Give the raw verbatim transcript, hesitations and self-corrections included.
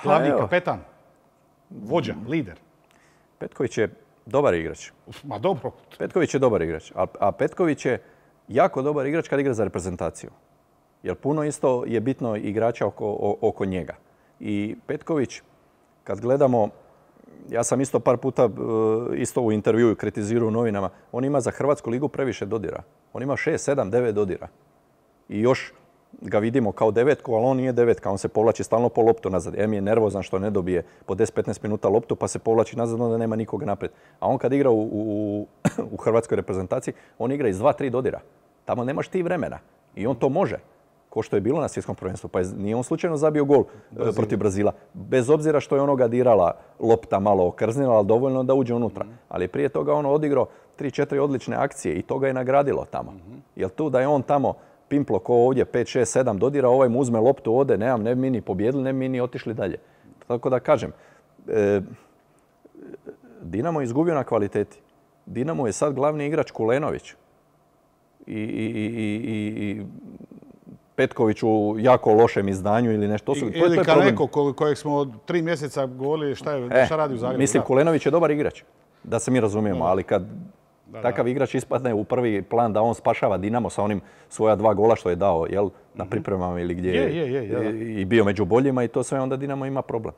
glavni kapetan, vođa, lider. Petković je dobar igrač. Ma dobro. Petković je dobar igrač, a, a Petković je jako dobar igrač kad igra za reprezentaciju. Jer puno isto je bitno igrača oko, oko njega. I Petković, kad gledamo, ja sam isto par puta isto u intervjuu kritizirao u novinama, on ima za Hrvatsku ligu previše dodira. On ima šest, sedam, devet dodira. I još ga vidimo kao devetku, ali on nije devetka. On se povlači stalno po loptu nazad. Em je nervozan što ne dobije po deset do petnaest minuta loptu, pa se povlači nazad, onda nema nikoga naprijed. A on kad igra u, u, u hrvatskoj reprezentaciji, on igra iz dva, tri dodira. Tamo nemaš ti vremena. I on to može. Ko što je bilo na svjetskom prvenstvu. Pa je, nije on slučajno zabio gol Brazil. protiv Brazila. Bez obzira što je onoga dirala lopta malo okrznila, ali dovoljno da uđe unutra. Mm-hmm. Ali prije toga on odigrao tri, četiri odlične akcije i to ga je nagradilo tamo. Mm-hmm. Jer tu da je on tamo pimplo ko ovdje pet, šest, sedam dodira, ovaj mu uzme loptu, ode, nemam, ne bi mi ni pobjedili, ne bi mi ni otišli dalje. Tako da kažem, e, Dinamo je izgubio na kvaliteti. Dinamo je sad glavni igrač Kulenović. I, i, i, i, i Petković u jako lošem izdanju ili nešto. To su, I, to, ili to Kaneko kojeg smo od tri mjeseca govorili šta, je, e, šta radi u Zagrebu. Mislim, Kulenović je dobar igrač, da se mi razumijemo, Dobar. ali kad Da, takav da. igrač ispadne u prvi plan da on spašava Dinamo sa onim svoja dva gola što je dao, jel, na pripremama ili gdje je, je, je, je, i bio među boljima i to sve, onda Dinamo ima problem.